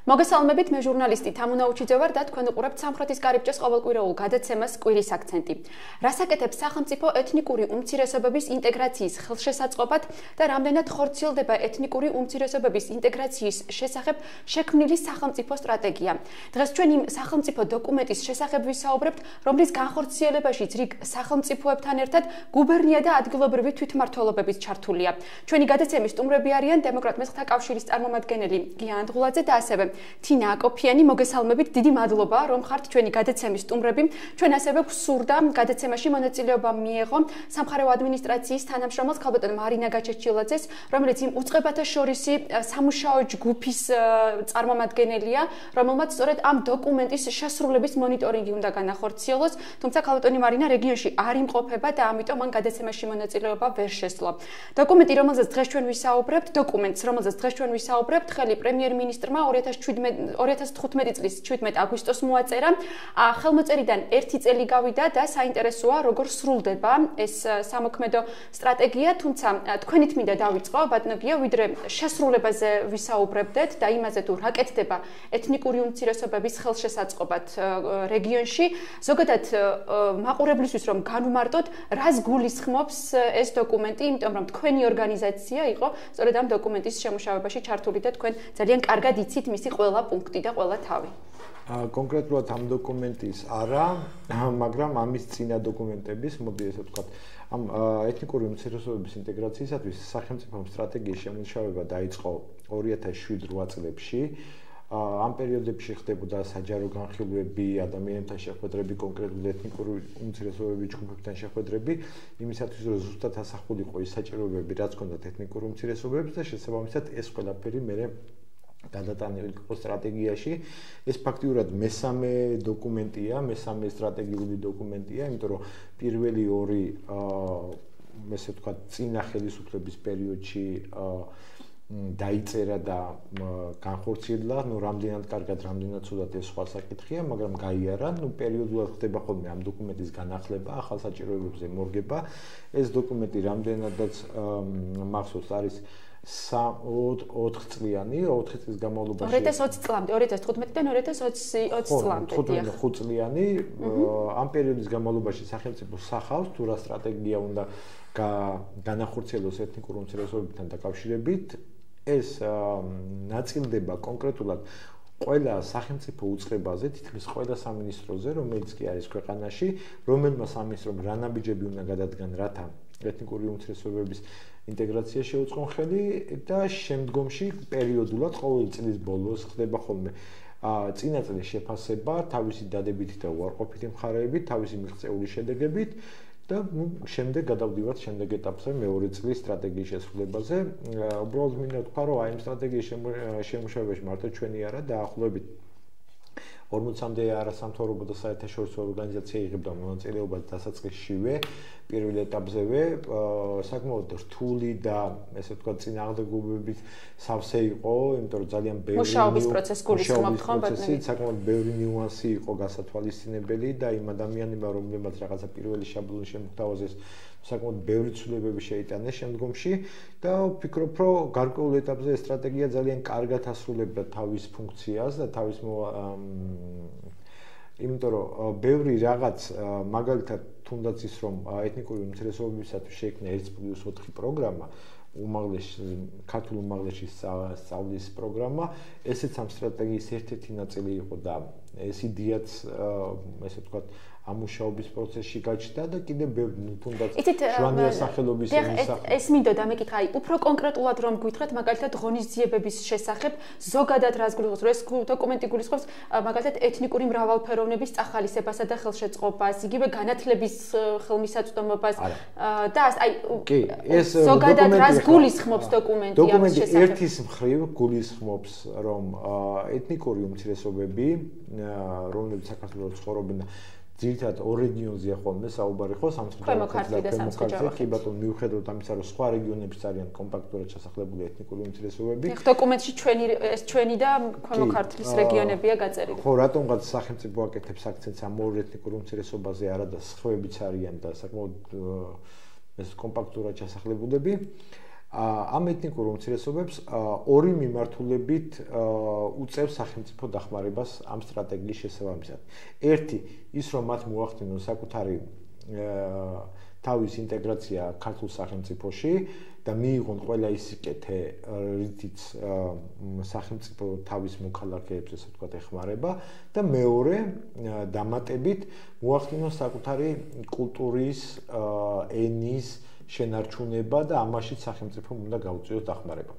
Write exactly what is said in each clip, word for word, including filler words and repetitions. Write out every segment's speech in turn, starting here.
მოგესალმებით, მე ჟურნალისტი თამუნა უჩიძე ვარ და თქვენ უყურებთ სამხრეთის კარიბჭეს ყოველკვირეულ გადაცემას კვირის აქცენტი. რას აკეთებს სახელმწიფო ეთნიკური უმცირესობების ინტეგრაციის ხელშესაწყობად და რამდენად ხორციელდება ეთნიკური უმცირესობების ინტეგრაციის შესახებ შექმნილი სახელმწიფო სტრატეგია. დღეს ჩვენ იმ სახელმწიფო დოკუმენტის შესახებ ვისაუბრებთ, რომლის განხორციელებაშიც რიგ სახელმწიფოებთან ერთად გუბერნია და ადგილობრივი თვითმმართველობებიც ჩართულია. ჩვენი გადაცემის სტუმრები არიან დემოკრატ მესხთა კავშირის წარმომადგენელი გია ანდღულაძე და ასევე თინა აკოფიანი, მოგესალმებით, დიდი მადლობა, რომ ხართ ჩვენი გადაცემის სტუმრები. ჩვენ ასევე გვსურდა გადაცემაში მონაწილეობა მიეღო სამხარეო ადმინისტრაციის თანამშრომელს ქალბატონ მარინა გაჩეჩილაძეს, რომელიც იმ უწყებათა შორისი სამუშაო ჯგუფის წარმომადგენელია, რომელმაც სწორედ ამ დოკუმენტის შესრულების მონიტორინგი უნდა განახორციელოს, თუმცა ქალბატონი მარინა რეგიონში არ იმყოფება და ამიტომ მან გადაცემაში მონაწილეობა ვერ შესძლო. დოკუმენტი, რომელზეც დღეს ჩვენ ვისაუბრებთ, დოკუმენტს, რომელზეც დღეს ჩვენ ვისაუბრებთ, ხელი პრემიერ-მინისტრმა ორი ათას თხუთმეტი წლის შვიდმეტ აგვისტოს მოაწერა. ხელმოწერიდან ერთი წელი გავიდა და საინტერესოა, როგორ სრულდება ეს სამოქმედო სტრატეგია, თუმცა თქვენით მინდა დავიწყო, ბატონო გია, ვიდრე შესრულებაზე ვისაუბრებდეთ და იმაზე თუ რა კეთდება ეთნიკური უმცირესობების ხელშესაწყობად რეგიონში, ზოგადად მაყურებლისთვის რომ განვმარტოთ, რას გულისხმობს ეს დოკუმენტი, იმიტომ რომ თქვენი ორგანიზაცია იყო სწორედ ამ დოკუმენტის შემუშავებაში ჩართული და თქვენ ძალიან კარგად იცით მისი ყველა პუნქტი და ყველა თავი. კონკრეტულად ამ დოკუმენტის არა, მაგრამ ამის წინა დოკუმენტების, მოდი ესე ვთქვათ, ამ ეთნიკური უმცირესობების ინტეგრაციისათვის სახელმწიფო სტრატეგიის შემუშავება დაიწყო ორი ათას შვიდ რვა წლებში. ამ პერიოდებში ხდებოდა საჯარო განხილვები, ადამიანთა შეხვედრები, კონკრეტულად ეთნიკური უმცირესობების ჯგუფებთან შეხვედრები, იმისათვის რომ ზუსტად ასახული იყო ის საჭიროებები, რაც ჰქონდათ ეთნიკურ უმცირესობებს და შესაბამისად ეს ყველაფერი მე გადატანილი იყო სტრატეგიაში. ეს ფაქტიურად მესამე დოკუმენტია, მესამე სტრატეგიული დოკუმენტია, იმიტომ რომ პირველი ორი ესე ვთქვათ, წინა ხელისუფლების პერიოდში დაიწერა და განხორციელა, ნუ რამდენად კარგად, რამდენად ცუდად ეს სხვა საკითხია, მაგრამ გაიარა, ნუ პერიოდულად ხდება ხოლმე ამ დოკუმენტის განახლება, ახალ საჭიროებებზე მორგება. ეს დოკუმენტი რამდენადაც მახსოვს არის ოთხ წლიანი, ოთხი წლის განმავლობაში. ორი ათას ოცი წლამდე, ორი ათას თხუთმეტიდან ორი ათას ოცი წლამდე. ხუთ წლიანი, ამ პერიოდის განმავლობაში სახელმწიფო სახავს თუ რა სტრატეგია უნდა განახორციელოს ეთნიკურ უმცირესობებთან დაკავშირებით. ეს ნაწილდება კონკრეტულად ყველა სახელმწიფო უწყებაზე, თითქმის ყველა სამინისტროზე, რომელიც კი არის ქვეყანაში, რომელმა სამინისტრომ რა ნაბიჯები უნდა გადადგან, რათა ეთნიკური უმცირესობების ინტეგრაცია შეუწყონ ხელი და შემდგომში პერიოდულად ყოველი წლის ბოლოს ხდება ხოლმე წინა წლის შეფასება თავისი დადებითი და უარყოფითი მხარეებით, თავისი მიღწეული შედეგებით და შემდეგ გადავდივართ შემდეგ ეტაპზე მეორე წლის სტრატეგიის შესრულებაზე. უბრალოდ მინდა ვთქვა, რომ აი ამ სტრატეგიის შემუშავებაში მარტო ჩვენი არა, დაახლოებით ორმოცამდე არასამთავრობო და საერთაშორისო ორგანიზაცია იღებდა მონაწილეობას დასაწყისშივე, პირველ ეტაპზევე, საკმაოდ რთული და ესე ვთქვათ, წინააღმდეგობებით სავსე იყო, იმიტომ რომ ძალიან ბევრი მუშაობის პროცესი გულისხმობთ ხომ ბატონო? საკმაოდ ბევრი ნიუანსი იყო გასათვალისწინებელი და იმ ადამიანებმა, რომლებმაც რაღაცა პირველი შაბლონი შემოგთავაზეს, საკმაოდ ბევრი ცვლილებები შეიტანეს შემდგომში და ვფიქრობ, რომ გარკვეულ ეტაპზე ეს სტრატეგია ძალიან კარგად ასრულებდა თავის ფუნქციას და თავის იმიტომ რომ ბევრი რაღაც მაგალითად თუნდაც ის რომ ეთნიკური უმცირესობებისათვის შეიქმნა ერთ პლუს ოთხი პროგრამა, უმაღლესი ქართულ უმაღლესი სწავლის პროგრამა, ესეც ამ სტრატეგიის ერთ-ერთი ნაწილი იყო და ეს იდეაც ესე ვთქვათ ამ მუშაობის პროცესში გაჩნდა და კიდევ ბევრი თუნდაც ჟვანია სახელობის ეს მინდოდა მეკითხა, აი უფრო კონკრეტულად რომ გვითხრათ მაგალითად ღონისძიებების შესახებ, ზოგადად რას გულისხმობს, რომ ეს დოკუმენტი გულისხმობს მაგალითად ეთნიკური მრავალფეროვნების წახალისებასა და ხელშეწყობას, იგივე განათლების ხელმისაწვდომობას და აი ზოგადად რას გულისხმობს დოკუმენტი ამის შესახებ? დოკუმენტი ერთის მხრივ გულისხმობს, რომ ეთნიკური უმცირესობები, რომლებიც საქართველოს ცხოვრობენ ძირითადად ორ რეგიონზეა ხოლმე საუბარი ხო სამცხე-ჯავახეთში და ქვემო-ქართლში, კი ბატონო, მიუხედავად ამისა, რომ სხვა რეგიონებიც არიან კომპაქტურად შესახლებული ეთნიკური უმცირესობები. ეხლა დოკუმენტში ჩვენი ეს ჩვენი და ქვემო-ქართლის რეგიონებია გაწერილი. ხო, რატომღაც სახელმწიფო აკეთებს აქცენტს ამ ორ ეთნიკურ უმცირესობაზე, არა და სხვაებიც არიან და საკმაოდ ეს კომპაქტურად შესახლებულები. ამ ეთნიკურ უმცირესობებს ორი მიმართულებით უწევს სახელმწიფო დახმარებას ამ სტრატეგიის შესაბამისად. ერთი, ის რომ მათ მოახდინონ საკუთარი თავის ინტეგრაცია ქართულ სახელმწიფოში და მიიღონ ყველა ის სიკეთე, რითიც სახელმწიფო თავის მოქალაქეებს ესე ვთქვათ ეხმარება და მეორე, დამატებით მოახდინონ საკუთარი კულტურის, ენის შენარჩუნება და ამაშიც სახელმწიფომ უნდა გაუწიოს დახმარება.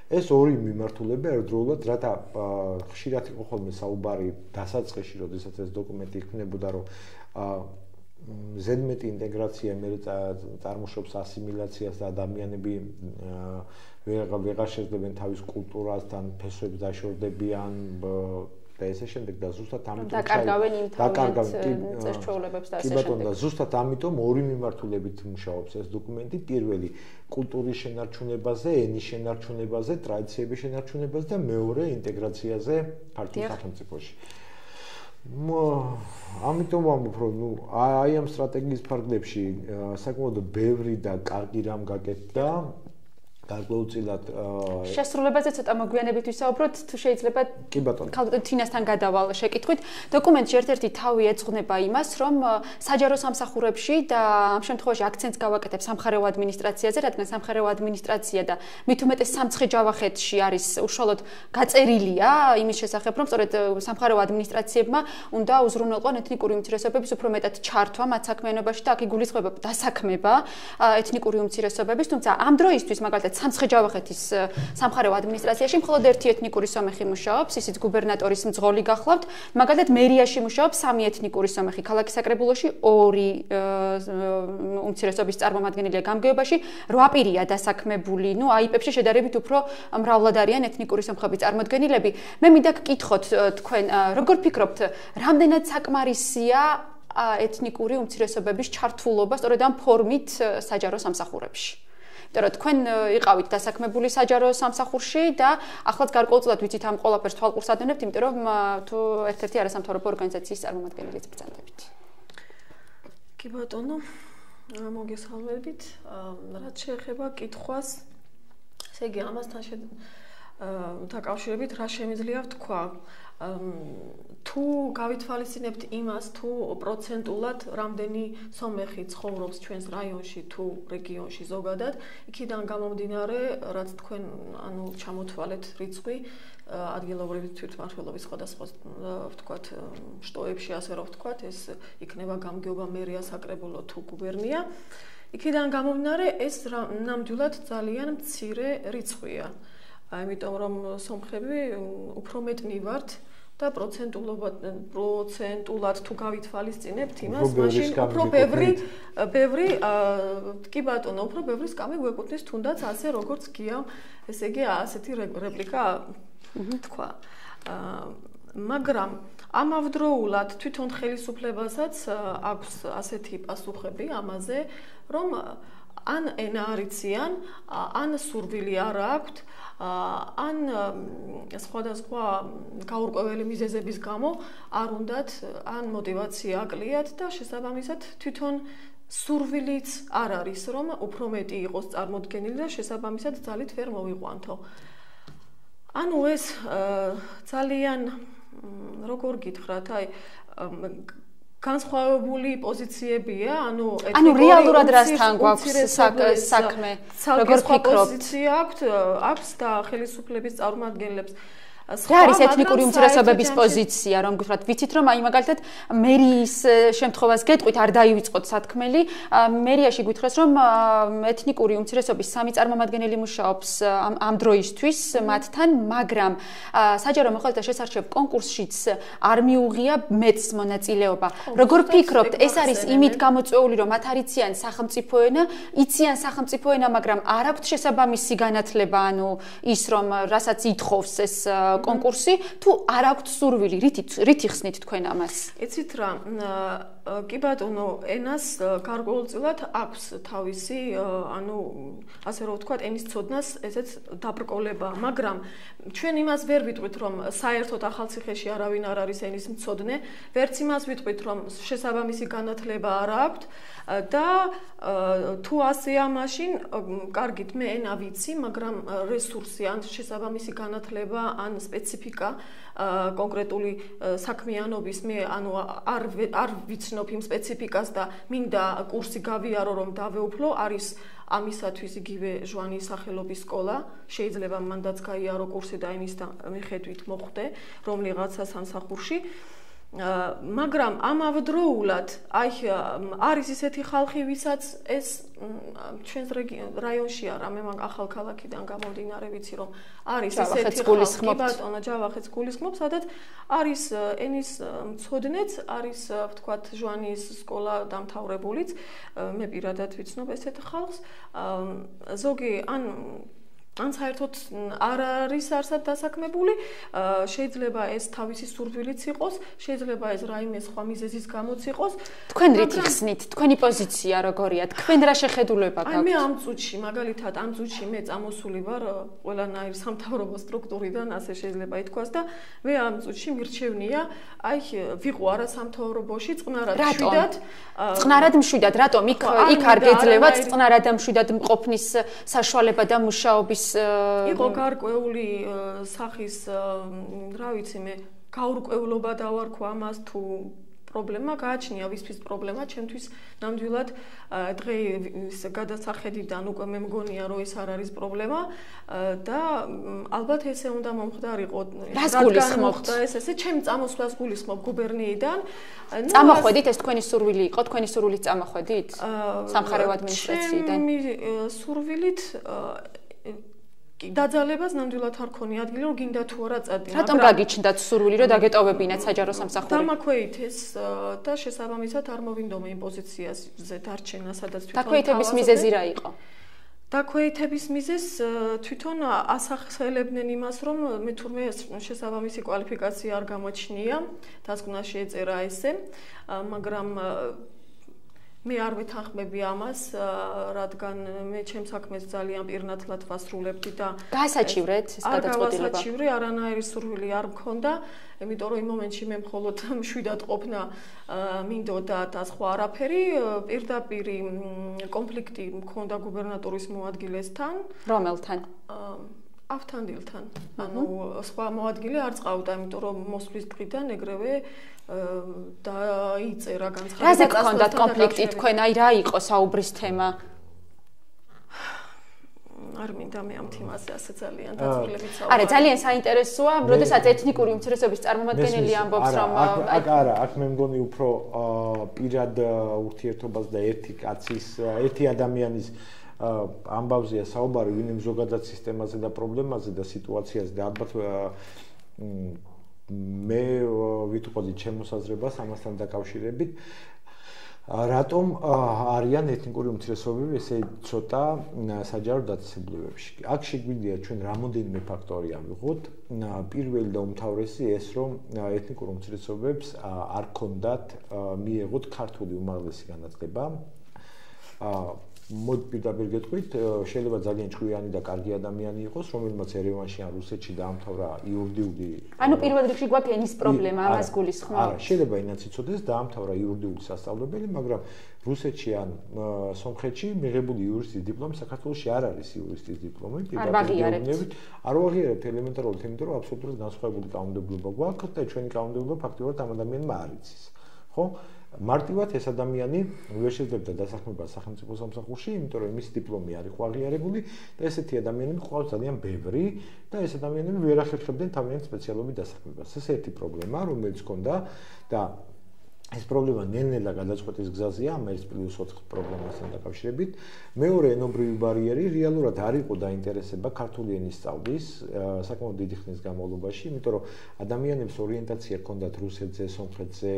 ეს ორი მიმართულება ერთდროულად, რათა ხშირად იყო ხოლმე საუბარი დასაწყისში, როდესაც ეს დოკუმენტი იქმნებოდა, რომ ზედმეტი ინტეგრაცია მე წარმოშობს ასიმილაციას და ადამიანები ვეღარ შეძლებენ თავის კულტურასთან, ფესვებს დაშორდებიან და ესე შემდეგ და ზუსტად ამიტომ დაკარგავენ იმ თავის წესჩვეულებებს და ასე შემდეგ. კი ბატონო, და ზუსტად ამიტომ ორი მიმართულებით მუშაობს ეს დოკუმენტი. პირველი კულტურის შენარჩუნებაზე, ენის შენარჩუნებაზე, ტრადიციების შენარჩუნებაზე და მეორე ინტეგრაციაზე ქართულ სახელმწიფოში. ამიტომ ვამბობ, რომ ნუ აი ამ სტრატეგიის ფარგლებში საკმაოდ ბევრი და კარგი რამ გაკეთდა. გარკვეულწილად შესრულებაზე ცოტა მოგვიანებით ვისაუბროთ, თუ შეიძლება კი ბატონო. ქალბატონ თინასთან გადავალ შეკითხვით. დოკუმენტში ერთ-ერთი თავი ეძღვნება იმას, რომ საჯარო სამსახურებში და ამ შემთხვევაში აქცენტს გავაკეთებ სამხარეო ადმინისტრაციაზე, რადგან სამხარეო ადმინისტრაცია და მით უმეტეს სამცხე-ჯავახეთში არის უშუალოდ გაწერილია იმის შესახებ, რომ სწორედ სამხარეო ადმინისტრაციებმა უნდა უზრუნველყონ ეთნიკური უმცირესობების უფრო მეტად ჩართვა მათ საქმიანობაში და აქ იგულისხმება დასაქმება ეთნიკური უმცირესობების, თუმცა ამ დროისთვის მაგალითად სამცხე-ჯავახეთის სამხარეო ადმინისტრაციაში მხოლოდ ერთი ეთნიკური სომეხი მუშაობს, ისიც გუბერნატორის მძღოლი გახლავთ. მაგალითად მერიაში მუშაობს სამი ეთნიკური სომეხი, ქალაქის საკრებულოში ორი უმცირესობის წარმომადგენელია გამგეობაში, რვა პირია დასაქმებული. ნუ აიპებში შედარებით უფრო მრავლად არიან ეთნიკური სომხების წარმოდგენილები. მე მინდა გკითხოთ თქვენ, როგორ ფიქრობთ, რამდენად საკმარისია ეთნიკური უმცირესობების ჩართულობა სწორედ ამ ფორმით საჯარო სამსახურებში? იმიტომ რომ თქვენ იყავით დასაქმებული საჯარო სამსახურში და ახლაც გარკვეულწილად ვიცით ამ ყველაფერს თვალყურს ადევნებთ, იმიტომ რომ თუ ერთ-ერთი არასამთავრობო ორგანიზაციის წარმომადგენელიც ბრძანდებით. კი ბატონო, მოგესალმებით. რაც შეეხება კითხვას, ესე იგი ამასთან დაკავშირებით რა შემიძლია ვთქვა? თუ გავითვალისწინებთ იმას, თუ პროცენტულად რამდენი სომეხი ცხოვრობს ჩვენს რაიონში თუ რეგიონში ზოგადად, იქიდან გამომდინარე, რაც თქვენ ანუ ჩამოთვალეთ რიცხვი ადგილობრივი თვითმმართველობის სხვადასხვა ვთქვათ შტოებში, ასე რომ ვთქვათ, ეს იქნება გამგეობა, მერია, საკრებულო თუ გუბერნია. იქიდან გამომდინარე, ეს ნამდვილად ძალიან მცირე რიცხვია. ამიტომ რომ სომხები უფრო მეტნი ვართ და პროცენტულად პროცენტულად თუ გავითვალისწინებთ იმას, მაშინ უფრო ბევრი ბევრი კი ბატონო, უფრო ბევრი სკამი გვეკუთვნის თუნდაც ასე როგორც გია, ესე იგი ასეთი რეპლიკა თქვა. მაგრამ ამავდროულად თვითონ ხელისუფლებასაც აქვს ასეთი პასუხები ამაზე, რომ ან ენა არიციან, ან სურვილი არ აქვთ, ან სხვადასხვა გაურკვეველი მიზეზების გამო არ უნდათ, ან мотиваცია აკლიათ და შესაბამისად თვითონ სურვილიც არ არის, რომ უფრო მეტი იყოს წარმოდგენილი და შესაბამისად ძალით ვერ მოვიყვანთო. ანუ ეს ძალიან როგორ გითხრათ, აი განსხვავებული პოზიციებია, ანუ ანუ რეალურად რასთან გვაქვს საქმე, როგორ ფიქრობთ? პოზიცია აქვს, აქვს და ხელისუფლების წარმომადგენლებს რა არის ეთნიკური უმცირესობების პოზიცია, რომ გითხრათ, ვიცით რომ აი მაგალითად მერიის შემთხვევას გეტყვით, არ დაივიწყოთ სათქმელი, მერიაში გითხრას რომ ეთნიკური უმცირესობის სამი წარმომადგენელი მუშაობს ამ დროისთვის მათთან, მაგრამ საჯარო მოხალისეთა შესარჩევ კონკურსშიც არ მიუღია მეც მონაწილეობა. როგორ ფიქრობთ, ეს არის იმით გამოწვეული, რომ მათ არიციან სახელმწიფო ენა, იციან სახელმწიფო ენა, მაგრამ არ აქვთ შესაბამისი განათლება, ანუ ის რომ რასაც ითხოვს ეს კონკურსი, თუ არ აქვთ სურვილი, რით რით იხსნით თქვენ ამას? იცით რა, კი ბატონო, ენას გარკვეულწილად აქვს თავისი, ანუ ასე რომ ვთქვათ, ენის ცოდნას ესეც დაბრკოლება, მაგრამ ჩვენ იმას ვერ ვიტყვით, რომ საერთოდ ახალციხეში არავინ არ არის ენის მცოდნე, ვერც იმას ვიტყვით, რომ შესაბამისი განათლება არ აქვთ და თუ ასეა, მაშინ კარგით, მე ენა ვიცი, მაგრამ რესურსი ან შესაბამისი განათლება ან სპეციფიკა კონკრეტული საქმიანობის მე ანუ არ არ ვიცნობ იმ სპეციფიკას და მინდა კურსი გავიარო რომ დავეუფლო არის ამისათვის იგივე ჟვანის სახელობის სკოლა შეიძლება მანდაც გაიარო კურსი და იმის მიხედვით მოხვდე რომლიღაცა სამსახურში მაგრამ ამავდროულად აი არის ისეთი ხალხი ვისაც ეს ჩვენს რაიონშია რამე მაგ ახალ ქალაქიდან გამომდინარე ვიცი რომ არის ისეთი ხალხი ბატონო ჯავახეთს გულისხმობს სადაც არის ენის მცოდნეც არის ვთქვათ ჟვანის სკოლა დამთავრებულიც მე პირადად ვიცნობ ესეთ ხალხს ზოგი ან ან საერთოდ არ არის არსად დასაქმებული, შეიძლება ეს თავისი სურვილიც იყოს, შეიძლება ეს რაიმე სხვა მიზეზის გამოც იყოს. თქვენ რით იხსნით? თქვენი პოზიცია როგორია? თქვენ რა შეხედულება გაქვთ? აი მე ამ წუთში, მაგალითად, ამ წუთში მე წამოსული ვარ ყველანაირ სამთავრობო სტრუქტურიდან, ასე შეიძლება ითქვას და მე ამ წუთში მირჩევნია, აი ვიყო არა სამთავრობოში, წყნარად მშვიდად. წყნარად მშვიდად, რატომ? იქ იქ არ გეძლევათ წყნარად და მშვიდად მყოფნის საშუალება და მუშაობის იყო გარკვეული სახის, რა ვიცი მე, გაურკვევლობა დავარქვა ამას თუ პრობლემა გააჩნია ვისთვის პრობლემა, ჩემთვის ნამდვილად დღეს გადასახედიდან უკვე მე მგონია რომ ეს არ არის პრობლემა და ალბათ ესე უნდა მომხდარიყო. რას გულისხმობთ? ეს ესე ჩემ წამოსვლას გულისხმობ გუბერნიიდან. წამოხვედით ეს თქვენი სურვილი იყო, თქვენი სურვილით წამოხვედით? სამხარეო ადმინისტრაციიდან. ჩემი სურვილით დაძალებას ნამდვილად არ ქონი ადგილი რომ გინდა თუ არა წადი. რატომ გაგიჩნდათ სურვილი რომ დაგეტოვებინათ საჯარო სამსახური? დამაქვეითეს და შესაბამისად არ მოვინდომე იმ პოზიციაზე დარჩენა, სადაც თვითონ დაქვეითების მიზეზი რა იყო? დაქვეითების მიზეზს თვითონ ასახელებდნენ იმას, რომ მე თურმე შესაბამისი კვალიფიკაცია არ გამოჩნია, დასკვნა შეეწერა ესე, მაგრამ მე არ ვეთანხმები ამას, რადგან მე ჩემს საქმეს ძალიან პირნათლად ვასრულებდი და გაასაჩივრეთ ეს გადაწყვეტილება. არ გავასაჩივრე, არანაირი სურვილი არ მქონდა, იმიტომ რომ იმ მომენტში მე მხოლოდ მშვიდად ყოფნა მინდოდა და სხვა არაფერი, პირდაპირ კონფლიქტი მქონდა გუბერნატორის მოადგილესთან. რომელთან? ავთანდილთან. ანუ სხვა მოადგილე არ წავდა, იმიტომ რომ მოსვლის დღიდან ეგრევე დაიწერა განცხადება. რაზე გქონდათ კონფლიქტი თქვენ? აი რა იყო საუბრის თემა? არ მინდა მე ამ თემაზე ასე ძალიან დაწვრილებით საუბარი. არა, ძალიან საინტერესოა, როდესაც ეთნიკური უმცირესობის წარმომადგენელი ამბობს, რომ აქ არა, აქ მე მგონი უფრო პირად ურთიერთობას და ერთი კაცის, ერთი ადამიანის ამბავზეა საუბარი, ვინმე ზოგადად სისტემაზე და პრობლემაზე და სიტუაციაზე და ალბათ მე ვიტყოდი ჩემს საზრებას ამასთან დაკავშირებით რატომ არიან ეთნიკური უმცირესობები ესე ცოტა საჯარო დაწესებულებებში. აქ შეგვიძლია ჩვენ რამოდენიმე ფაქტორი ავიღოთ. პირველი და უმთავრესი ეს რომ ეთნიკურ უმცირესობებს არ ქონდათ მიეღოთ ქართული უმაღლესი განათლება. მოდ პირდაპირ გეტყვით, შეიძლება ძალიან ჭკვიანი და კარგი ადამიანი იყოს, რომელმაც ერევანში ან რუსეთში დაამთავრა იურიდიული. ანუ პირველ რიგში გვაქვს ენის პრობლემა, ამას გულისხმობ. არა, შეიძლება ინაც იცოდეს, დაამთავრა იურიდიული სასწავლებელი, მაგრამ რუსეთში ან სომხეთში მიღებული იურისტის დიპლომი საქართველოში არ არის იურისტის დიპლომი, პირდაპირ გეუბნებით. არ ვაღიარებთ ელემენტარულად, იმიტომ რომ აბსოლუტურად განსხვავებული კანონმდებლობა გვაქვს და ჩვენი კანონმდებლობა ფაქტობრივად ამ ადამიანმა არ იცის. ხო? მარტივად ეს ადამიანი ვერ შეძლებდა დასაქმება სახელმწიფო სამსახურში, იმიტომ რომ მისი დიპლომი არ იყო აღიარებული და ესეთი ადამიანები ყავს ძალიან ბევრი და ეს ადამიანები ვერ ახერხებდნენ თავიანთ სპეციალობით დასაქმებას. ეს ერთი პრობლემა, რომელიც ჰქონდა და ეს პრობლემა ნელ-ნელა გადაწყვეტის გზაზეა ამ ერთ პლუს ოთხ პრობლემასთან დაკავშირებით. მეორე ენობრივი ბარიერი რეალურად არ იყო დაინტერესება ქართული ენის სწავლის საკმაოდ დიდი ხნის განმავლობაში, იმიტომ რომ ადამიანებს ორიენტაცია ჰქონდათ რუსეთზე, სომხეთზე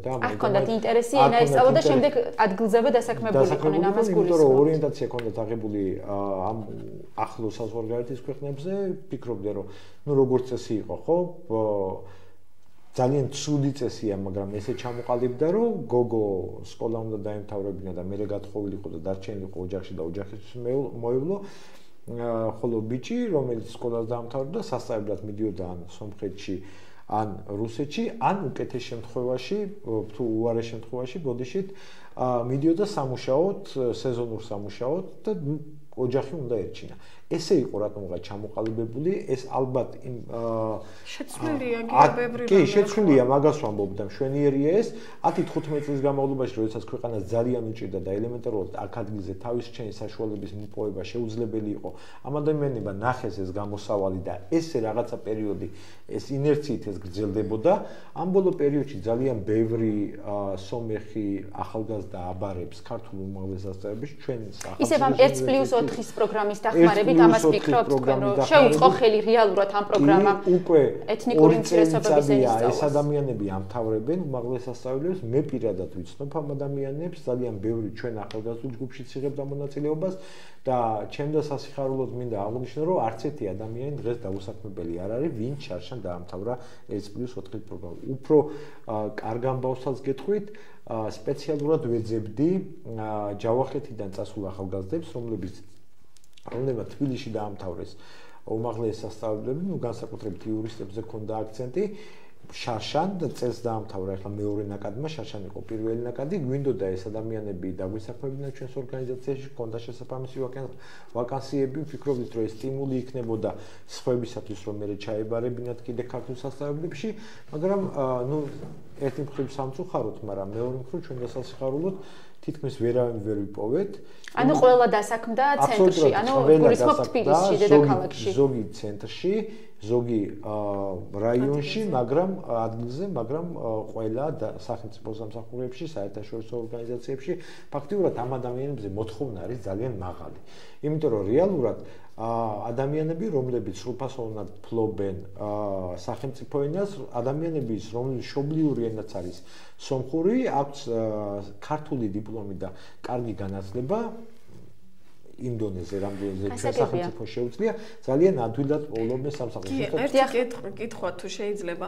და არ ჰქონდათ ინტერესი ენა ესწავლო და შემდეგ ადგილზევე დასაქმებული იყვნენ ამას გულისხმობთ. იმიტომ რომ ორიენტაცია ჰქონდათ აღებული ამ ახლო საზღვარგარეთის ქვეყნებზე, ფიქრობდნენ რომ ნუ როგორც წესი იყო, ხო? ძალიან ცუდი წესია, მაგრამ ესე ჩამოყალიბდა, რომ გოგო სკოლა უნდა დაემთავრებინა და მერე გათხოვილიყო და დარჩენილიყო ოჯახში და ოჯახისთვის მოევლო. ხოლო ბიჭი, რომელიც სკოლას დაამთავრებდა, სასწავლებლად მიდიოდა ან სომხეთში, ან რუსეთში, ან უკეთეს შემთხვევაში, თუ უარეს შემთხვევაში, ბოდიშით, მიდიოდა სამუშაოდ, სეზონურ სამუშაოდ და ოჯახი უნდა ერჩინა. ესე იყო რატომღა ჩამოყალიბებული, ეს ალბათ იმ შეცვლილია გეობებრი კი, შეცვლილია, მაგას ვამბობ და მშვენიერია ეს. ათი თხუთმეტი წლის განმავლობაში, როდესაც ქვეყანას ძალიან უჭირდა და ელემენტარულად აქ ადგილზე თავის რჩენის საშუალების მოპოვება შეუძლებელი იყო, ამ ადამიანებმა ნახეს ეს გამოსავალი და ესე რაღაცა პერიოდი ეს ინერციით ეს გრძელდებოდა. ამ ბოლო პერიოდში ძალიან ბევრი სომეხი ახალგაზრდა აბარებს ქართულ უმაღლესწავლებლებში ჩვენ სახელმწიფო ისევ ამ ერთ პლუს ოთხის პროგრამის დახმარებით ამას ვფიქრობთ თქვენ, რომ შეუწყო ხელი რეალურად ამ პროგრამამ უკვე ეთნიკური უმცირესობების ენისწავლას. ეს ადამიანები ამთავრებენ უმაღლესასწავლებლებს, მე პირადად ვიცნობ ამ ადამიანებს, ძალიან ბევრი ჩვენ ახალგაზრდულ ჯგუფშიც იღებდა მონაწილეობას და ჩემ და სასიხარულოდ მინდა აღვნიშნო, რომ არც ერთი ადამიანი დღეს დაუსაქმებელი არ არის, ვინც შარშან დაამთავრა ერთ პლუს ოთხის პროგრამა. უფრო კარგ ამბავსაც გეტყვით, სპეციალურად ვეძებდი ჯავახეთიდან წასულ ახალგაზრდებს, რომლებიც რომლებმაც თბილისში დაამთავრეს უმაღლეს სასწავლებლები, ნუ განსაკუთრებით იურისტებზე ქონდა აქცენტი, შარშან და წელს დაამთავრა, ახლა მეორე ნაკადმა, შარშან იყო პირველი ნაკადი, გვინდოდა ეს ადამიანები დაგვისაქმებინა ჩვენს ორგანიზაციაში, ქონდა შესაძამისი ვაკანსიები, ვფიქრობდით, რომ ეს სტიმული იქნებოდა სხვებისათვის, რომ მე ჩაებარებინათ კიდე ქართულ სასწავლებლებში, მაგრამ ნუ ერთი მხრივ სამწუხაროდ, მაგრამ მეორე მხრივ ჩვენ დასასიხარულოდ თითქმის ვერავინ ვერ ვიპოვეთ. ანუ ყველა დასაქმდა ცენტრში, ანუ გულისხმობ თბილისში, დედაქალაქში. ზოგი ცენტრში, ზოგი რაიონში, მაგრამ ადგილზე, მაგრამ ყველა სახელმწიფო სამსახურებში, საერთაშორისო ორგანიზაციებში ფაქტიურად ამ ადამიანებზე მოთხოვნა არის ძალიან მაღალი. იმიტომ რომ რეალურად ადამიანები, რომლებიც სრულფასოვნად ფლობენ სახელმწიფო ენას, ადამიანების, რომლებიც მშობლიური ენაც არის სომხური, აქვს ქართული დიპლომი და კარგი განათლება იმ დონეზე, რამდენზე ჩვენ სახელმწიფო შეუძლია, ძალიან ადვილად პოულობენ სამსახურში. ერთი კითხვა თუ შეიძლება,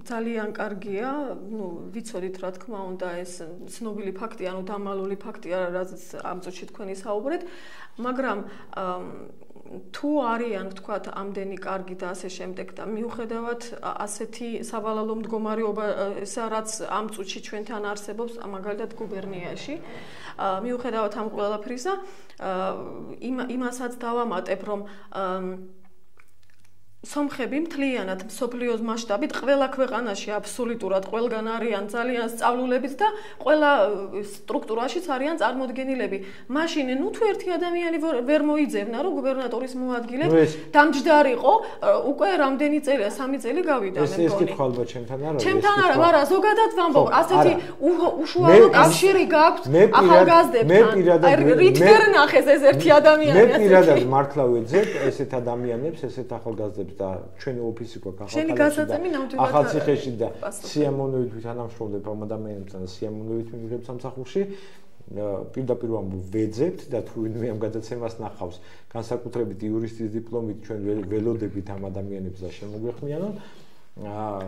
ძალიან კარგია, ნუ ვიცოდით რა თქმა უნდა ეს ცნობილი ფაქტი, ანუ დამალული ფაქტია, რაც ამ წუთში თქვენი საუბრეთ, მაგრამ თუ არიან თქვათ ამდენი კარგი და ასე შემდეგ და მიუხედავად ასეთი სავალალო მდგომარეობა, რაც ამ წუთში ჩვენთან არსებობს, მაგალითად გუბერნიაში, მიუხედავად ამ ყველაფრისა, იმასაც დავამატებ, რომ სომხები მთლიანად მსოფლიოს მასშტაბით ყველა ქვეყანაში აბსოლუტურად ყველგან არიან ძალიან სწავლულებით და ყველა სტრუქტურაშიც არიან წარმოდგენილები. მაშინ ნუ თუ ერთი ადამიანი ვერ მოიძებნა, რომ გუბერნატორის მოადგილედ დამჯდარიყო, უკვე რამდენი წელია, სამი წელი გავიდა მე მგონი. ეს კითხვა ალბათ ჩემთან არა. ჩემთან არა, მაგრამ ზოგადად ვამბობ, ასეთი უშუალო კავშირი გაქვთ ახალგაზრდებთან. რით ვერ ნახეს ეს ერთი ადამიანი ასე. მე პირადად მართლა ვეძებ ესეთ ადამიანებს, ესეთ ახალგაზრდებს და ჩვენი ოფისი გვაქვს ახალციხეში და სიამოვნებით ვითანამშრომლობ ამ ადამიანებთან და სიამოვნებით მივიღებ სამსახურში. პირდაპირ ვამბობ, ვეძებთ და თუ ვინმე ამ გადაცემას ნახავს, განსაკუთრებით იურისტის დიპლომით ჩვენ ველოდებით ამ ადამიანებს და შემოგვეხმიანონ.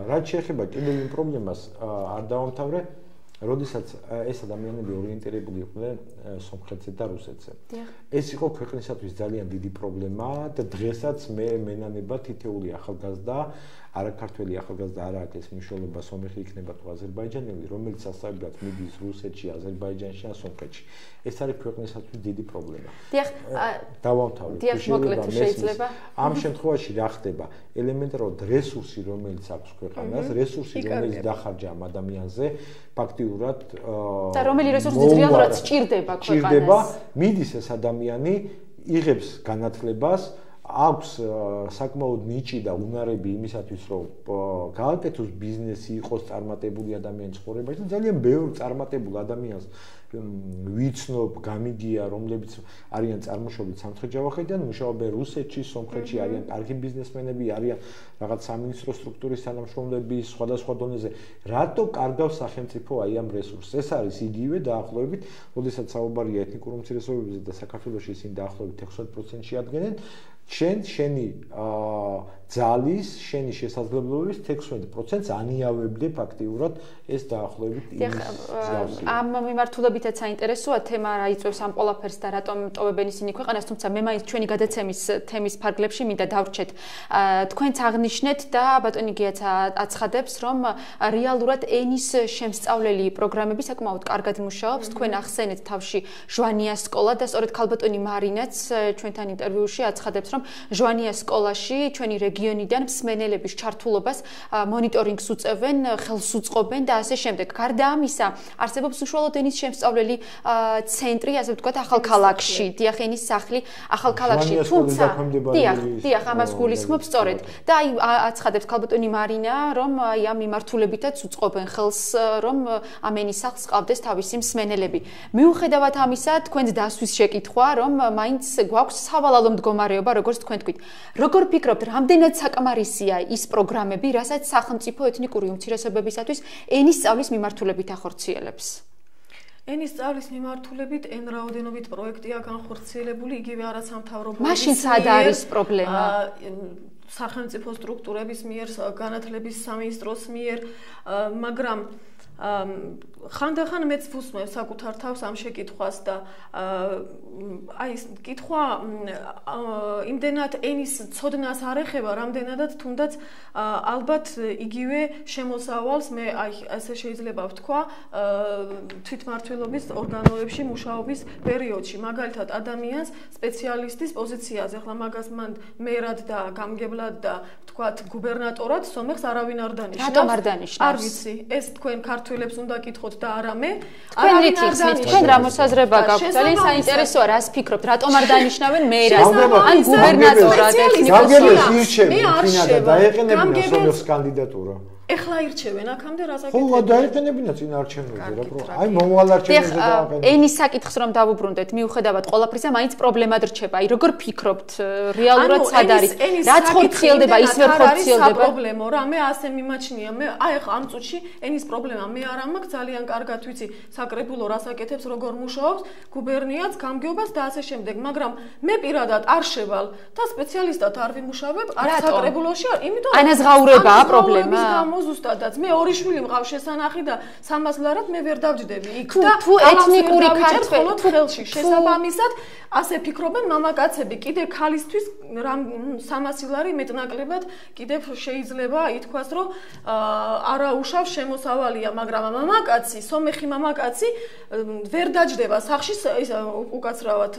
რაც შეეხება კიდევ იმ პრობლემას არ დავამთავრე, როდესაც ეს ადამიანები ორიენტირებული იყვნენ სომხეთზე და რუსეთზე. ეს იყო ქვეყნისათვის ძალიან დიდი პრობლემა და დღესაც მე მენანება თითეული ახალგაზრდა, არაქართველი ახალგაზრდა არ აქვს ეს მნიშვნელობა სომეხი იქნება თუ აზერბაიჯანელი, რომელიც სასწავლებლად მიდის რუსეთში, აზერბაიჯანში ან სომხეთში. ეს არის ქვეყნისათვის დიდი პრობლემა. დიახ, დავამთავრეთ. შეიძლება. ამ შემთხვევაში რა ხდება? ელემენტარულად რესურსი, რომელიც აქვს ქვეყანას, რესურსი, რომელიც დახარჯა ამ ადამიანზე, ფაქტიურად და რომელი რესურსი რეალურად სჭირდება ქვეყანას. მიდის ეს ადამიანი, იღებს განათლებას, აქვს საკმაოდ ნიჭი და უნარები იმისათვის, რომ გააკეთოს ბიზნესი, იყოს წარმატებული ადამიანი ცხოვრებაში და ძალიან ბევრ წარმატებულ ადამიანს ვიცნობ, გამიგია, რომლებიც არიან წარმოშობით სამცხე-ჯავახეთიდან, მუშაობენ რუსეთში, სომხეთში, არიან კარგი ბიზნესმენები, არიან რაღაც სამინისტრო სტრუქტურის თანამშრომლები სხვადასხვა დონეზე. რატო კარგავს სახელმწიფო აი ამ რესურსს? ეს არის იგივე დაახლოებით, როდესაც საუბარია ეთნიკურ უმცირესობებზე და საქართველოში ისინი დაახლოებით ოცდაექვსი პროცენტში ადგენენ. შენ შენი ძალის, შენი შესაძლებლობების თექვსმეტ პროცენტს ანიავებდი ფაქტიურად ეს დაახლოებით ის მსგავსია. ამ მიმართულებითაც საინტერესოა თემა რა იწვევს ამ ყველაფერს და რატომ ტოვებენ ისინი ქვეყანას, თუმცა მე მაინც ჩვენი გადაცემის თემის ფარგლებში მინდა დავრჩეთ. თქვენც აღნიშნეთ და ბატონი გიაც აცხადებს, რომ რეალურად ენის შემსწავლელი პროგრამები საკმაოდ კარგად მუშაობს. თქვენ ახსენეთ თავში ჟვანიას სკოლა და სწორედ ქალბატონი მარინაც ჩვენთან ინტერვიუში აცხადებს, რომ ჟვანიას სკოლაში ჩვენი რეგიონიდან მსმენელების ჩართულობას მონიტორინგს უწევენ, ხელს უწყობენ და ასე შემდეგ. გარდა ამისა, არსებობს უშუალოდ ენის შემსწავლელი ცენტრი, ასე ვთქვათ, ახალქალაქში, დიახ, ენის სახლი ახალქალაქში. თუმცა, დიახ, დიახ, ამას გულისხმობ სწორედ. და აი აცხადებს ქალბატონი მარინა, რომ აი ამ მიმართულებითაც უწყობენ ხელს, რომ ამ ენის სახლს ყავდეს თავისი მსმენელები. მიუხედავად ამისა, თქვენს დასვის შეკითხვა, რომ მაინც გვაქვს სავალალო მდგომარეობა, როგორც თქვენ თქვით. როგორ ფიქრობთ, რამდენად საკმარისია ის პროგრამები, რასაც სახელმწიფო ეთნიკური უმცირესობებისათვის ენის სწავლის მიმართულებით ახორციელებს? ენის სწავლის მიმართულებით ენ რაოდენობით პროექტია განხორციელებული, იგივე არასამთავრობო მაშინ სად არის პრობლემა? სახელმწიფო სტრუქტურების მიერ, განათლების სამინისტროს მიერ, მაგრამ ხანდახან მეც ვუსმევ საკუთარ თავს ამ შეკითხვას და აი ეს კითხვა იმდენად ენის ცოდნას არ ეხება, რამდენადაც თუნდაც ალბათ იგივე შემოსავალს მე აი ასე შეიძლება ვთქვა თვითმმართველობის ორგანოებში მუშაობის პერიოდში, მაგალითად ადამიანს სპეციალისტის პოზიციაზე, ახლა მაგას მან მერად და გამგებლად და ვთქვათ გუბერნატორად სომეხს არავინ არ დანიშნავს. რატომ არ დანიშნავს? არ ვიცი, ეს თქვენ ქართველებს უნდა კითხოთ და არა მე. თქვენ რითიხსნით, თქვენ რა მოსაზრება გაქვთ? ძალიან საინტერესოა, რას ფიქრობთ, რატომ არ დანიშნავენ მერად ან გუბერნატორად? გამგებელს ირჩევენ, ფინა და დაეყენებინა სომეხს კანდიდატურა. ეხლა ირჩევენ აქამდე რასაკეთებია? ხო, დაეყენებინა წინ არჩევნებზე რა პრო. აი მომავალ არჩევნებზე დააყენებინა. ენის საკითხს რომ დავუბრუნდეთ, მიუხედავად ყველაფრისა, მაინც პრობლემად რჩება. აი როგორ ფიქრობთ, რეალურად სად არის? რაც ხორციელდება, ის ვერ ხორციელდება? პრობლემო რა, მე ასე მიმაჩნია. მე აი ახლა ამ წუთში ენის პრობლემა მე არ მაქვს, ძალიან კარგად ვიცი საკრებულო რასაკეთებს, როგორ მუშაობს, გუბერნიაც, გამგეობას და ასე შემდეგ, მაგრამ მე პირადად არ შევალ და სპეციალისტად არ ვიმუშავებ, არ საკრებულოში, იმიტომ რომ ანაზღაურებაა პრობლემა. ზუსტადაც მე ორი შვილი მყავს შესანახი და სამას ლარად მე ვერ დავჯდები იქ და თუ ეთნიკური ქართველი ხელში შესაბამისად ასე ფიქრობენ მამაკაცები კიდე ქალისთვის რამ სამასი ლარი მეტნაკლებად კიდევ შეიძლება ითქვას რომ არა უშავს შემოსავალია მაგრამ მამაკაცი სომეხი მამაკაცი ვერ დაჯდება სახში უკაცრავად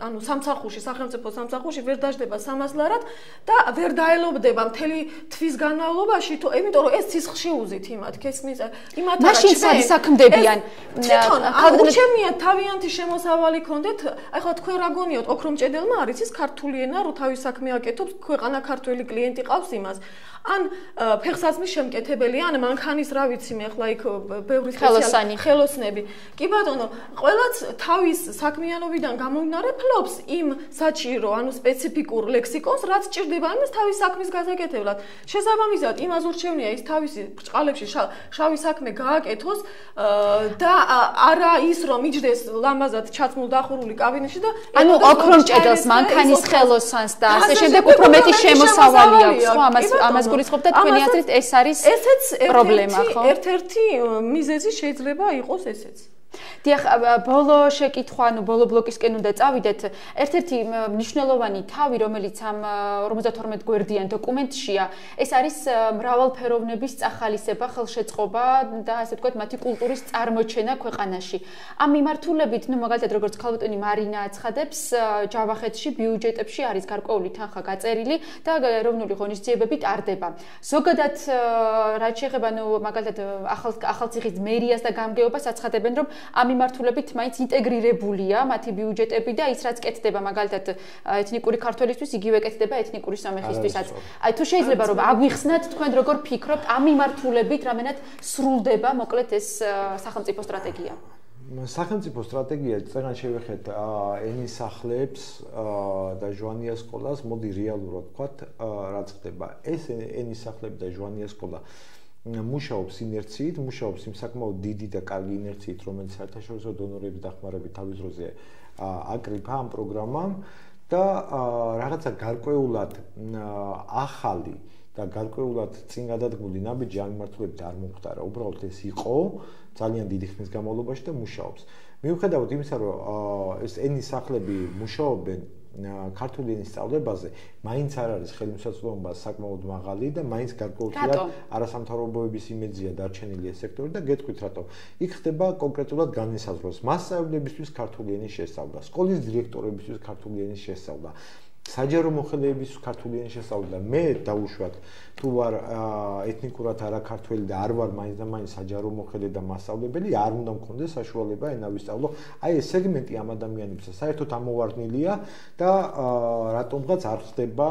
ანუ სამსახურში სახელმწიფო სამსახურში ვერ დაჯდება სამას ლარად და ვერ დაელობდება მთელი თვის განმავლობაში თუ იმიტომ რომ ეს ცისხლში უზით იმათ ქესმის იმათ არა მაშინ სად საქმდებიან თვითონ აუჩემია თავიანთი შემოსავალი ქონდეთ აი ხო თქვენ რა გონიოთ ოქრომჭედელმა არის ის ქართული ენა რო თავის საქმე აკეთობს ქვეყანა ქართველი კლიენტი ყავს имас ან ფეხსაცმლის შემკეთებელი ან მანქანის რა ვიცი მე ახლა იქ ბევრი სპეციალური ხელოსნები კი ბატონო ყველაც თავის საქმიანობიდან გამომდინარე ფლობს იმ საჭირო ანუ სპეციფიკურ ლექსიკონს რაც ჭირდება იმას თავის საქმის გასაკეთებლად შესაბამისად იმას ურჩევნია ის თავისი ბრჭყალებში შავი საქმე გააკეთოს და არა ის რომ იჯდეს ლამაზად ჩაცმულ დახურული კაბინეტში და ანუ ოქრომჭედელს მანქანის ხელოსანს და ასე შემდეგ უფრო მეტი შემოსავალი აქვს ხო ამას ამას გულისხმობ და თქვენი აზრით ეს არის პრობლემა ხო ერთ-ერთი მიზეზი შეიძლება იყოს ესეც დიახ, ბოლო შეკითხვა, ანუ ბოლო ბლოკისკენ უნდა წავიდეთ. ერთ-ერთი მნიშვნელოვანი თავი, რომელიც ამ ორმოცდათორმეტ გვერდიან დოკუმენტშია, ეს არის მრავალფეროვნების წახალისება, ხელშეწყობა და ასე ვთქვათ, მათი კულტურის წარმოჩენა ქვეყანაში. ამ მიმართულებით, ну, მაგალითად, როგორც ქალბატონი მარინა აცხადებს, ჯავახეთში ბიუჯეტებში არის გარკვეული თანხა გაწერილი და ეროვნული ღონისძიებები ტარდება. ზოგადად, რაც შეეხება, ну, მაგალითად, ახალციხის მერიას და გამგეობას აცხადებენ, რომ ამ მიმართულებით მაინც ინტეგრირებულია მათი ბიუჯეტები და ის რაც კეთდება მაგალითად ეთნიკური ქართველისთვის იგივე კეთდება ეთნიკური სომეხისთვისაც. აი თუ შეიძლება რომ აგვიხსნათ თქვენ როგორ ფიქრობთ ამ მიმართულებით რამენად სრულდება მოკლედ ეს სახელმწიფო სტრატეგია? სახელმწიფო სტრატეგია წეგან შევეხეთ ენის სახლებს და ჟვანიას სკოლას, მოდი რეალურად ვთქვათ, რაც ხდება. ეს ენის სახლები და ჟვანიას სკოლა მუშაობს ინერციით, მუშაობს იმ საკმაოდ დიდი და კარგი ინერციით, რომელიც საერთაშორისო დონორების დახმარებით თავის დროზე აკრიფა ამ პროგრამამ და რაღაცა გარკვეულად ახალი და გარკვეულად წინ გადადგმული ნაბიჯი ამ მიმართულებით არ მომხდარა. უბრალოდ ეს იყო ძალიან დიდი ხნის განმავლობაში და მუშაობს. მიუხედავად იმისა, რომ ეს ენის სახლები მუშაობენ ქართული ენის სწავლებაზე, მაინც არ არის ხელმისაწვდომობა საკმაოდ მაღალი და მაინც გარკვეულწილად არასამთავრობოების იმეძია დარჩენილი ეს სექტორი და გეტყვით რატომ. იქ ხდება კონკრეტულად განმსაზღვროს მასწავლებლებისთვის ქართული ენის შესწავლა, სკოლის დირექტორებისთვის ქართული ენის შესწავლა, საჯარო მოხელეების ქართული ენის შესწავლა. მე დაუშვათ თუ ვარ ეთნიკურად არაქართველი და არ ვარ მაინც და მაინც საჯარო მოხელე და მასწავლებელი, არ უნდა მქონდეს საშუალება ენა ვისწავლო. აი ეს სეგმენტი ამ ადამიანებისა საერთოდ ამოვარდნილია და რატომღაც არ ხდება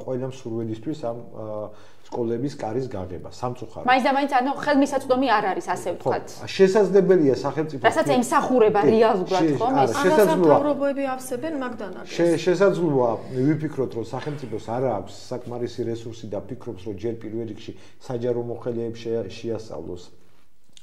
ყველა მსურველისთვის ამ სკოლების კარის გაღება სამწუხაროდ. მაინც და მაინც ანუ ხელმისაწვდომი არ არის ასე ვთქვათ. შესაძლებელია სახელმწიფო რასაც ემსახურება რეალურად ხომ ეს არასამთავრობოები ავსებენ მაგდან არის. შესაძლოა ვიფიქროთ რომ სახელმწიფოს არ აქვს საკმარისი რესურსი და ფიქრობს რომ ჯერ პირველ რიგში საჯარო მოხელეებს შეასწავლოს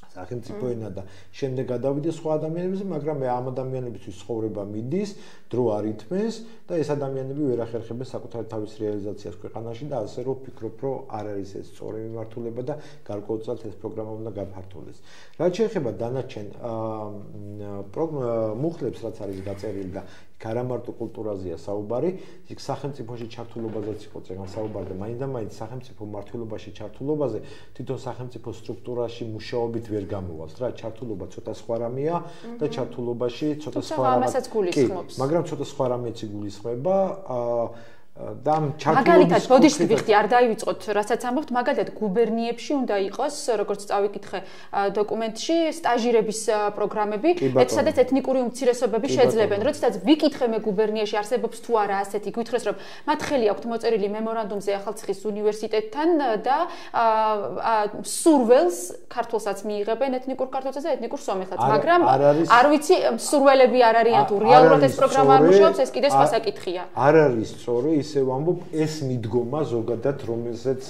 სახელმწიფო ენა და შემდეგ გადავიდეს სხვა ადამიანებზე, მაგრამ მე ამ ადამიანებისთვის ცხოვრება მიდის, დრო არ ითმეს და ეს ადამიანები ვერ ახერხებენ საკუთარ თავის რეალიზაციას ქვეყანაში და ასე რომ ვფიქრობ, რომ არ არის ეს სწორი მიმართულება და გარკვეულწილად ეს პროგრამა უნდა გაფართოვდეს. რაც შეეხება დანარჩენ მუხლებს, რაც არის გაწერილი და არა მარტო კულტურაზეა საუბარი, იქ სახელმწიფოში ჩართულობაზეც იყო წეგან საუბარი და მაინც და მაინც სახელმწიფო მართლობაში ჩართულობაზე თვითონ სახელმწიფო სტრუქტურაში მუშაობით ვერ გამოვალს რა, ჩართულობა ცოტა სხვა რამეა და ჩართულობაში ცოტა სხვა რამეა. მაგრამ ცოტა სხვა რამეც იგულისხმება და მაგალითად ბოდიშს ვიხდი არ დაივიწყოთ რასაც ამბობთ მაგალითად გუბერნიებში უნდა იყოს როგორც წავიკითხე დოკუმენტში სტაჟირების პროგრამები ეს სადაც ეთნიკური უმცირესობები შეძლებენ როდესაც ვიკითხე მე გუბერნიაში არსებობს თუ არა ასეთი გითხრეს რომ მათ ხელი აქვთ მოწერილი მემორანდუმზე ახალციხის უნივერსიტეტთან და სურველს ქართულსაც მიიღებენ ეთნიკურ ქართულსაც და ეთნიკურ სომეხსაც მაგრამ არ ვიცი სურველები არ არიან თუ რეალურად ეს პროგრამა არ მუშაობს ეს კიდე სხვა საკითხია არ არის სწორი ისე ვამბობ ეს მიდგომა ზოგადად რომელზეც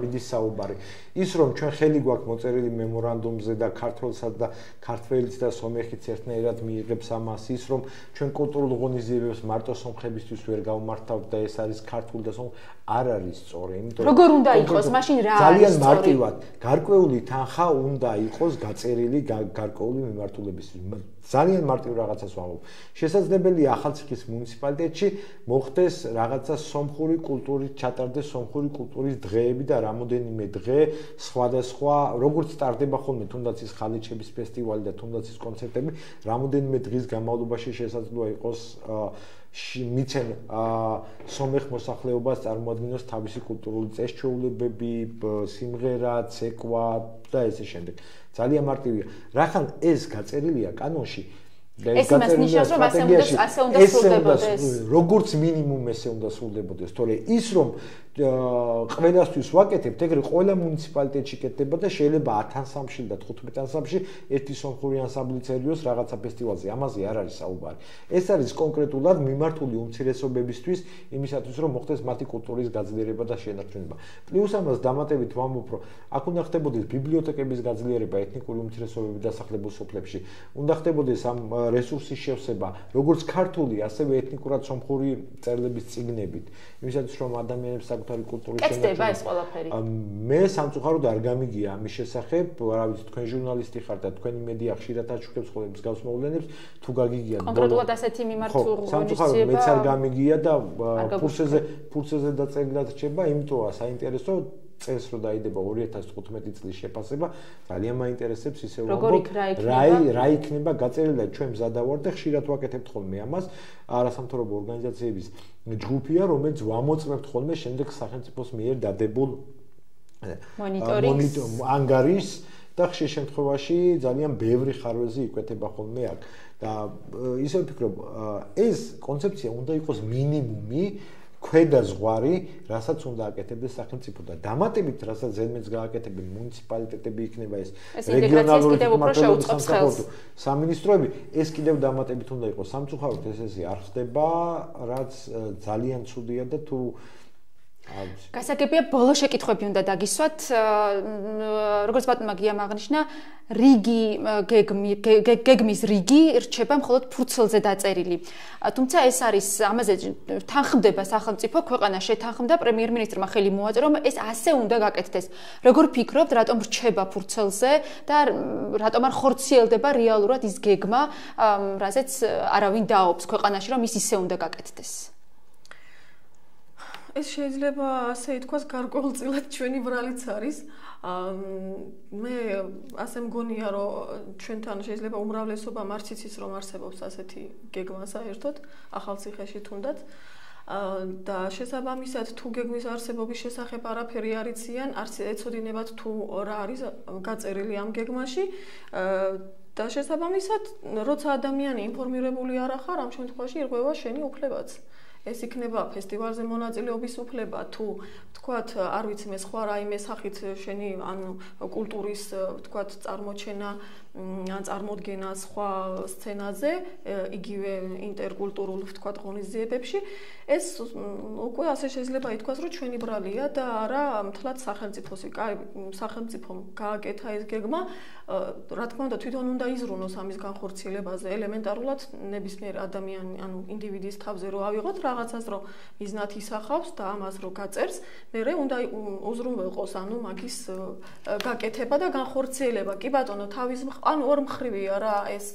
მიდის საუბარი ის რომ ჩვენ ხელი გვაქვს მოწერილი მემორანდუმზე და ქართულსაც და ქართველიც და სომეხიც ერთნაირად მიიღებს ამას ის რომ ჩვენ კულტურულ ღონისძიებებს მარტო სომხებისთვის ვერ გავმართავთ და ეს არის ქართული და სომხ არ არის სწორი იმიტომ რომ როგორ უნდა იყოს მაშინ რა არის ძალიან მარტივად გარკვეული თანხა უნდა იყოს გაწერილი გარკვეული მიმართულებისთვის ძალიან მარტივ რაღაცას ვამბობ. შესაძლებელია ახალციხის მუნიციპალიტეტში მოხდეს რაღაცა სომხური კულტურის ჩატარდეს სომხური კულტურის დღეები და რამოდენიმე დღე სხვადასხვა როგორც სტარტდება ხოლმე თუნდაც ის ხალიჩების ფესტივალი და თუნდაც ის კონცერტები რამოდენიმე დღის განმავლობაში შესაძლოა იყოს მიცენ სომეხ მოსახლეობას წარმოადგენოს თავისი კულტურული წესჩვეულებები, სიმღერა, ცეკვა და ესე შემდეგ. ძალიან მარტივია. რახან ეს გაწერილია კანონში ეს იმას ნიშნავს რომ ასე უნდა ასე უნდა სრულდებოდეს. როგორც მინიმუმ ესე უნდა სრულდებოდეს, თორე ის რომ ყველასთვის ვაკეთებთ, ეგრე ყველა მუნიციპალიტეტში კეთდება და შეიძლება ათ ანსამბლში და თხუთმეტ ანსამბლში ერთი სომხური ანსამბლი წერიოს რაღაცა ფესტივალზე. ამაზე არ არის საუბარი. ეს არის კონკრეტულად მიმართული უმცირესობებისთვის, იმისათვის რომ მოხდეს მათი კულტურის გაძლიერება და შენარჩუნება. პლუს ამას დამატებით ვამბობ, რომ აქ უნდა ხდებოდეს ბიბლიოთეკების გაძლიერება ეთნიკური უმცირესობების დასახლებულ სოფლებში. უნდა ხდებოდეს ამ რესურსის შევსება, როგორც ქართული, ასევე ეთნიკურად სომხური წერილების წიგნებით. იმისათვის რომ ადამიანებს საკუთარი კულტურის შენარჩუნება ეს ყველაფერი. მე სამწუხაროდ არ გამიგია ამის შესახებ, რა ვიცი, თქვენ ჟურნალისტი ხართ და თქვენი მედია ხშირად აჩუქებს ხოლმე მსგავს მოვლენებს, თუ გაგიგია კონკრეტულად ასეთი მიმართული სამწუხაროდ მეც არ გამიგია და ფურცეზე ფურცეზე დაწერილად რჩება, იმიტომა საინტერესო წელს რო დაიდება ორი ათას თხუთმეტი წლის შეფასება, ძალიან მაინტერესებს ისე ვამბობ, რა რა იქნება გაწერილი და ჩვენ მზადავარ და ხშირად ვაკეთებთ ხოლმე ამას, არასამთავრობო ორგანიზაციების ჯგუფია, რომელიც ვამოწმებთ ხოლმე შემდეგ სახელმწიფოს მიერ დადებულ მონიტორინგს ანგარიშს და ხშირ შემთხვევაში ძალიან ბევრი ხარვეზი იკვეთება ხოლმე აქ. და ისე ვფიქრობ, ეს კონცეფცია უნდა იყოს მინიმუმი ქვედა ზღვარი, რასაც უნდა აკეთებდეს სახელმწიფო და დამატებით, რასაც ზედმეტს გააკეთებენ მუნიციპალიტეტები იქნება ეს რეგიონალური სამსახურო სამინისტროები, ეს კიდევ დამატებით უნდა იყოს. სამწუხაროდ ეს ესე არ ხდება, რაც ძალიან ცუდია და თუ გასაგებია ბოლო შეკითხვები უნდა დაგისვათ. როგორც ბატონმა გიამ აღნიშნა, რიგი გეგმის რიგი რჩება მხოლოდ ფურცელზე დაწერილი. თუმცა ეს არის ამაზე თანხმდება სახელმწიფო, ქვეყანა შეთანხმდა, პრემიერ-მინისტრმა ხელი მოაწერა, რომ ეს ასე უნდა გაკეთდეს. როგორ ფიქრობთ, რატომ რჩება ფურცელზე და რატომ არ ხორციელდება რეალურად ის გეგმა, რაზეც არავინ დაობს ქვეყანაში, რომ ის ისე უნდა გაკეთდეს? ეს შეიძლება ასე ითქვას გარკვეულწილად ჩვენი ბრალიც არის. მე ასე მგონია, რომ ჩვენთან შეიძლება უმრავლესობამ არც იცის, რომ არსებობს ასეთი გეგმა საერთოდ ახალციხეში თუნდაც. და შესაბამისად თუ გეგმის არსებობის შესახებ არაფერი არ იციან, არც ეცოდინებათ თუ რა არის გაწერილი ამ გეგმაში. და შესაბამისად, როცა ადამიანი ინფორმირებული არ ახარ, ამ შემთხვევაში ირღვევა შენი უფლებაც. ეს იქნება ფესტივალზე მონაწილეობის უფლება თუ თქვათ არ ვიცი მე სხვა რაიმე სახით შენი ანუ კულტურის თქვათ წარმოჩენა ან წარმოდგენა სხვა სცენაზე იგივე ინტერკულტურულ თქვათ ღონისძიებებში ეს უკვე ასე შეიძლება ითქვას რომ ჩვენი ბრალია და არა მთლად სახელმწიფოსი სახელმწიფომ გააკეთა ეს გეგმა რა თქმა უნდა თვითონ უნდა იზრუნოს ამის განხორციელებაზე ელემენტარულად ნებისმიერ ადამიანი ანუ ინდივიდის თავზე რო ავიღოთ რაღაცას რომ მიზნად ისახავს და ამას რო გაწერს მერე უნდა უზრუნველყოს ანუ მაგის გაკეთება და განხორციელება კი ბატონო თავის ანუ ორმხრივია რა ეს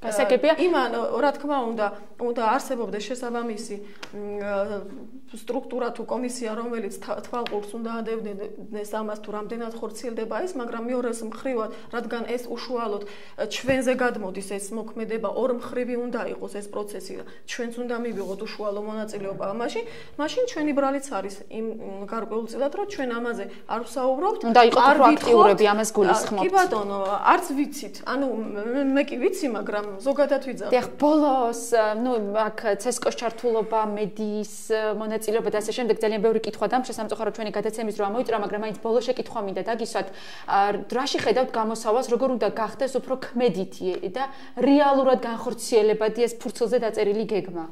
გასაგებია იმან რა თქმა უნდა უნდა არსებობდეს შესაბამისი სტრუქტურა თუ კომისია რომელიც თვალყურს უნდა ადევნეს ამას თუ რამდენად ხორციელდება ეს მაგრამ მეორეს მხრივად რადგან ეს უშუალოდ ჩვენზე გადმოდის ეს მოქმედება ორმხრივი უნდა იყოს ეს პროცესი და ჩვენც უნდა მივიღოთ უშუალო მონაწილეობა ამაში მაშინ ჩვენი ბრალიც არის იმ გარკვეულწილად რომ ჩვენ ამაზე არ ვსაუბრობთ უნდა იყოს პროაქტიურები ამას გულისხმობთ კი ბატონო არც ვიცით ანუ მე კი ვიცი მაგრამ ზოგადად ვიძახ. დიახ, ბოლოს, ნუ აქ ცესკოს ჩართულობა, მედიის მონაწილეობა და ასე შემდეგ ძალიან ბევრი კითხვა და შესამწუხაროდ ჩვენი გადაცემის დრო ამოიწურა, მაგრამ მაინც ბოლო შეკითხვა მინდა დაგისვათ. რაში ხედავთ გამოსავალს, როგორ უნდა გახდეს უფრო ქმედითი და რეალურად განხორციელებადი ეს ფურცელზე დაწერილი გეგმა?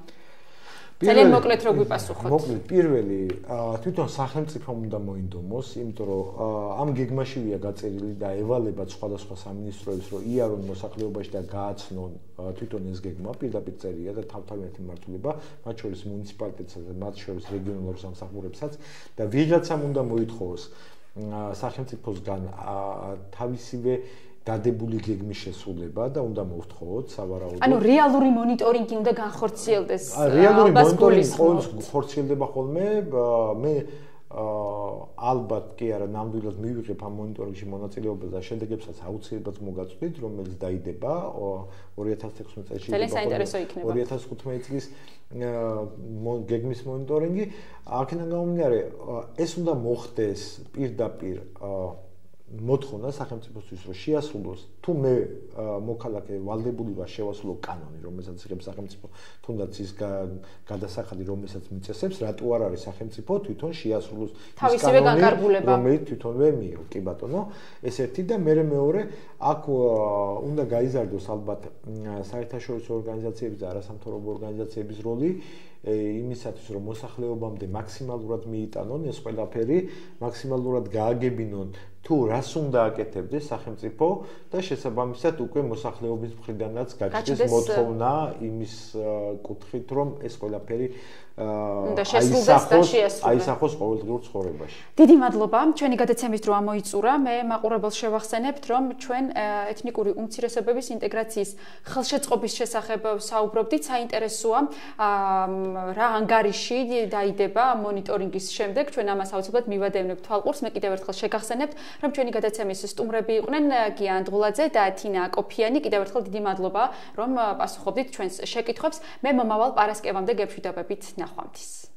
ძალიან მოკლედ რო გვიპასუხოთ. მოკლედ პირველი თვითონ სახელმწიფომ უნდა მოინდომოს, იმიტომ რომ ამ გეგმაშივეა გაწერილი და ევალებათ სხვადასხვა სამინისტროებს, რომ იარონ მოსახლეობაში და გააცნონ თვითონ ეს გეგმა, პირდაპირ წერია და თავთავიანთი მმართველობა, მათ შორის მუნიციპალიტეტსაც და მათ შორის რეგიონალურ სამსახურებსაც და ვიღაცამ უნდა მოითხოვოს სახელმწიფოსგან თავისივე დადებული გეგმის შესრულება და უნდა მოვთხოვოთ სავარაუდოდ. ანუ რეალური მონიტორინგი უნდა განხორციელდეს. რეალური მონიტორინგი ყოველთვის ხორციელდება ხოლმე. მე ალბათ კი არა ნამდვილად მივიღებ ამ მონიტორინგში მონაწილეობას და შედეგებსაც აუცილებლად მოგაწვდით, რომელიც დაიდება ორი ათას თექვსმეტ წელს ძალიან საინტერესო იქნება. ორი ათას თხუთმეტ წლის გეგმის მონიტორინგი. აქედან გამომდინარე, ეს უნდა მოხდეს პირდაპირ მოთხოვნა სახელმწიფოსთვის რომ შეასრულოს თუ მე მოქალაქე ვალდებული ვარ შევასრულო კანონი რომელსაც იღებს სახელმწიფო თუნდაც ის გადასახადი რომელსაც მიწესებს რატო არ არის სახელმწიფო თვითონ შეასრულოს ის კანონი რომელიც თვითონვე მიიღო კი ბატონო ეს ერთი და მე მეორე აქ უნდა გაიზარდოს ალბათ საერთაშორისო ორგანიზაციების და არასამთავრობო ორგანიზაციების როლი იმისათვის რომ მოსახლეობამდე მაქსიმალურად მიიტანონ ეს ყველაფერი მაქსიმალურად გააგებინონ თუ რას უნდა აკეთებდეს სახელმწიფო და შესაბამისად უკვე მოსახლეობის მხრიდანაც გაჩნდეს მოთხოვნა იმის კუთხით რომ ეს ყველაფერი უნდა შესრულდეს და შეასრულოს აისახოს ყოველდღიურ ცხოვრებაში. დიდი მადლობა. ჩვენი გადაცემის დრო ამოიწურა. მე მაყურებელს შევახსენებთ რომ ჩვენ ეთნიკური უმცირესობების ინტეგრაციის ხელშეწყობის შესახებ საუბრობდით. საინტერესოა რა ანგარიში დაიდება მონიტორინგის შემდეგ. ჩვენ ამას აუცილებლად მივადევნებთ თვალყურს. მე კიდევ ერთხელ შეგახსენებთ რომ ჩვენი გადაცემის სტუმრები იყვნენ გია ანდღულაძე და თინა აკოფიანი. კიდევ ერთხელ დიდი მადლობა რომ პასუხობდით ჩვენს შეკითხვებს. მე მომავალ პარასკევამდე გეშვიდობებით ნახვამდის.